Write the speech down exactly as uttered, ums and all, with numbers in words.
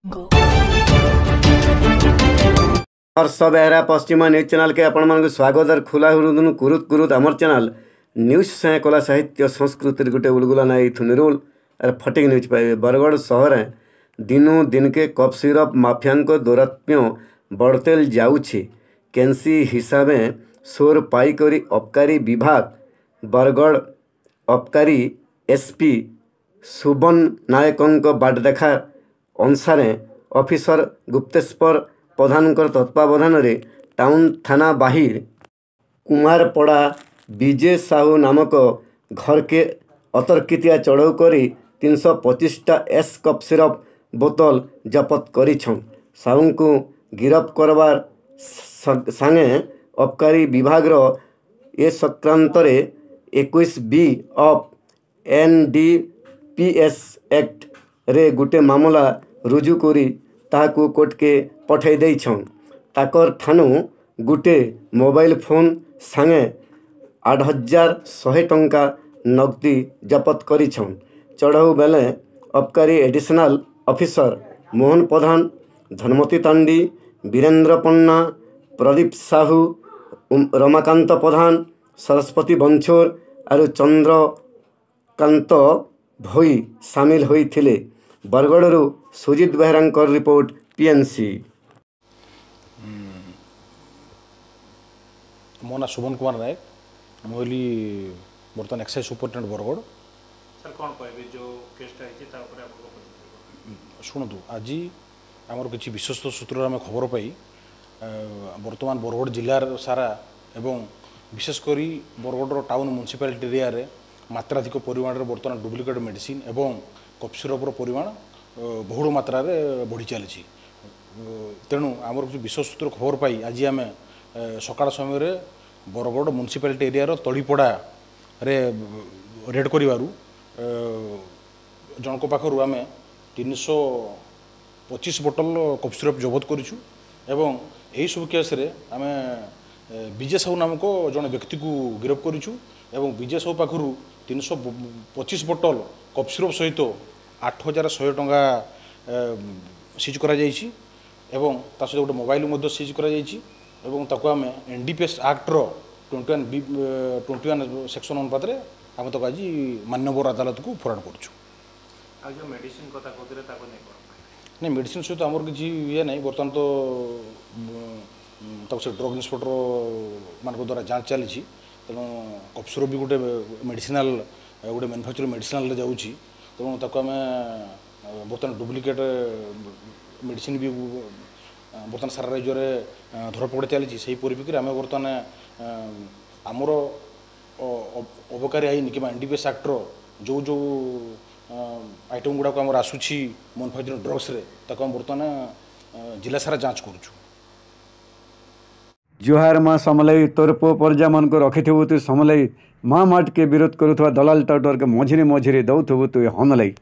ହର୍ଷ ବେହେରା ପଶ୍ଚିମ ନ୍ୟୁଜ୍ ଚ୍ୟାନେଲ୍କେ ଆପଣମାନଙ୍କୁ ସ୍ୱାଗତ ଆର୍ ଖୋଲା ହୁରୁଦୁନୁ କୁରୁତ କୁରୁତ ଆମର ଚ୍ୟାନେଲ୍ ନ୍ୟୁଜ୍ ସାଙ୍ଗେ କଲା ସାହିତ୍ୟ ସଂସ୍କୃତିର ଗୋଟେ ଉଲଗୁଲା ନାଇଁ ଥୁନିରୁଲ ଆର୍ ଫଟିକ୍ ନ୍ୟୁଜ୍ ପାଇବେ। ବରଗଡ଼ ସହରେ ଦିନୁ ଦିନକେ କଫ୍ ସିରପ୍ ମାଫିଆଙ୍କ ଦୌରାତ୍ମ୍ୟ ବଢ଼ତେଲ ଯାଉଛି। କେନ୍ସି ହିସାବେ ସୋର ପାଇକରି ଅବକାରୀ ବିଭାଗ ବରଗଡ଼ ଅବକାରୀ ଏସ୍ପି ସୁବନ ନାୟକଙ୍କ ବାଟ ଦେଖା ଅନୁସାରେ ଅଫିସର ଗୁପ୍ତେଶ୍ୱର ପ୍ରଧାନଙ୍କର ତତ୍ତ୍ୱାବଧାନରେ ଟାଉନ୍ ଥାନା ବାହିର କୁମାରପଡ଼ା ବିଜେ ସାହୁ ନାମକ ଘରକେ ଅତର୍କିତିଆ ଚଢ଼ଉ କରି ତିନିଶହ ପଚିଶଟା ଏସ୍ କପ୍ ସିରପ୍ ବୋତଲ ଜବତ କରିଛନ୍। ସାହୁଙ୍କୁ ଗିରଫ କରବାର ସାଙ୍ଗେ ଅବକାରୀ ବିଭାଗର ଏ ସଂକ୍ରାନ୍ତରେ ଏକୋଇଶ ବି of N D P S ଆକ୍ଟରେ ଗୁଟେ ମାମଲା ରୁଜୁ କରି ତାହାକୁ କୋର୍ଟକେ ପଠାଇ ଦେଇଛନ୍। ତାକର ଠାନୁ ଗୁଟେ ମୋବାଇଲ ଫୋନ୍ ସାଙ୍ଗେ ଆଠ ହଜାର ଶହେ ଟଙ୍କା ନଗଦି ଜବତ କରିଛନ୍। ଚଢ଼ଉ ବେଲେ ଅବକାରୀ ଏଡିସନାଲ ଅଫିସର ମୋହନ ପ୍ରଧାନ, ଧନମତୀ ତାଣ୍ଡି, ବୀରେନ୍ଦ୍ର ପନ୍ନା, ପ୍ରଦୀପ ସାହୁ, ରମାକାନ୍ତ ପ୍ରଧାନ, ସରସ୍ୱତୀ ବଂଛୋର ଆରୁ ଚନ୍ଦ୍ରକାନ୍ତ ଭୋଇ ସାମିଲ ହୋଇଥିଲେ। ବରଗଡ଼ରୁ ସୁଜିତ ବେହେରାଙ୍କର ରିପୋର୍ଟ, ପିଏନ୍ସି। ମୋ ନାଁ ସୁବନ କୁମାର ନାୟକ, ମୁଁ ହେଲି ବର୍ତ୍ତମାନ ଏକ୍ସାଇଜ୍ ସୁପରିଟେଣ୍ଡେଣ୍ଟ ବରଗଡ଼। ସାର୍, କ'ଣ କହିବେ, ଯେଉଁ କେସ୍ଟା ହେଇଛି ତା ଉପରେ ଆପଣଙ୍କ ପ୍ରତିକ୍ରିୟା? ଶୁଣନ୍ତୁ, ଆଜି ଆମର କିଛି ବିଶ୍ୱସ୍ତ ସୂତ୍ରରେ ଆମେ ଖବର ପାଇ ବର୍ତ୍ତମାନ ବରଗଡ଼ ଜିଲ୍ଲାର ସାରା ଏବଂ ବିଶେଷ କରି ବରଗଡ଼ର ଟାଉନ୍ ମ୍ୟୁନିସିପାଲିଟି ଏରିଆରେ ମାତ୍ରାଧିକ ପରିମାଣରେ ବର୍ତ୍ତମାନ ଡୁପ୍ଲିକେଟ୍ ମେଡ଼ିସିନ୍ ଏବଂ କଫ୍ ସିରପ୍ର ପରିମାଣ ବହୁଳ ମାତ୍ରାରେ ବଢ଼ି ଚାଲିଛି। ତେଣୁ ଆମର କିଛି ବିଶ୍ୱସ୍ତ ସୂତ୍ର ଖବର ପାଇ ଆଜି ଆମେ ସକାଳ ସମୟରେ ବରଗଡ଼ ମ୍ୟୁନିସିପାଲିଟି ଏରିଆର ତଳିପଡ଼ାରେ ରେଡ଼୍ କରିବାରୁ ଜଣଙ୍କ ପାଖରୁ ଆମେ ତିନିଶହ ପଚିଶ ବୋଟଲ କଫ୍ ସିରପ୍ ଜବତ କରିଛୁ ଏବଂ ଏହିସବୁ କେସ୍ରେ ଆମେ ବିଜୟ ସାହୁ ନାମକ ଜଣେ ବ୍ୟକ୍ତିକୁ ଗିରଫ କରିଛୁ ଏବଂ ବିଜୟ ସାହୁ ପାଖରୁ ତିନିଶହ ପଚିଶ ବୋଟଲ କଫ୍ ସିରପ୍ ସହିତ ଆଠ ହଜାର ଶହେ ଟଙ୍କା ସିଜ୍ କରାଯାଇଛି ଏବଂ ତା ସହିତ ଗୋଟେ ମୋବାଇଲ ମଧ୍ୟ ସିଜ୍ କରାଯାଇଛି ଏବଂ ତାକୁ ଆମେ N D P S actor twenty one ବି ଟ୍ୱେଣ୍ଟି ୱାନ୍ ସେକ୍ସନ୍ ଅନୁପାତରେ ଆମେ ତାକୁ ଆଜି ମାନ୍ୟବର ଅଦାଲତକୁ ଫରୱାର୍ଡ଼ କରୁଛୁ। ଆଉ ଯେଉଁ ମେଡ଼ିସିନ କଥା କହୁଥିଲେ, ତାକୁ ନେଇ କ'ଣ? ନାଇଁ, ମେଡ଼ିସିନ ସହିତ ଆମର କିଛି ଇଏ ନାହିଁ। ବର୍ତ୍ତମାନ ତ ତାକୁ ସେ ଡ୍ରଗ୍ ଇନ୍ସପେକ୍ଟର ମାନଙ୍କ ଦ୍ୱାରା ଯାଞ୍ଚ ଚାଲିଛି। ତେଣୁ କଫ୍ ସିରପ୍ ବି ଗୋଟେ ମେଡ଼ିସିନାଲ, ଗୋଟେ ମ୍ୟାନୁଫ୍ୟାକ୍ଚରିଂ ମେଡ଼ିସିନାଲରେ ଯାଉଛି। ତେଣୁ ତାକୁ ଆମେ ବର୍ତ୍ତମାନ ଡୁପ୍ଲିକେଟ୍ ମେଡ଼ିସିନ ବି ବର୍ତ୍ତମାନ ସାରା ରାଜ୍ୟରେ ଧରପଗଡ଼ ଚାଲିଛି। ସେହି ପରିପ୍ରେକ୍ଷୀରେ ଆମେ ବର୍ତ୍ତମାନ ଆମର ଅବକାରୀ ଆଇନ କିମ୍ବା N D P S actor ଯେଉଁ ଯେଉଁ ଆଇଟମ୍ ଗୁଡ଼ାକ ଆମର ଆସୁଛି ମ୍ୟାନୁଫ୍ୟାକ୍ଚରିଂ ଡ୍ରଗ୍ସରେ, ତାକୁ ଆମେ ବର୍ତ୍ତମାନ ଜିଲ୍ଲା ସାରା ଯାଞ୍ଚ କରୁଛୁ। ଜୁହାର ମା ସମଲେଇ, ତୋର ପୁଅ ପରଜାମାନଙ୍କୁ ରଖିଥିବୁ ତୁ ସମଲେଇ। ମା ମାଟକେ ବିରୋଧ କରୁଥିବା ଦଲାଲ ଟାଉଟରକେ ମଝିରେ ମଝିରେ ଦଉଥିବୁ ତୁ ହନଲେଇ।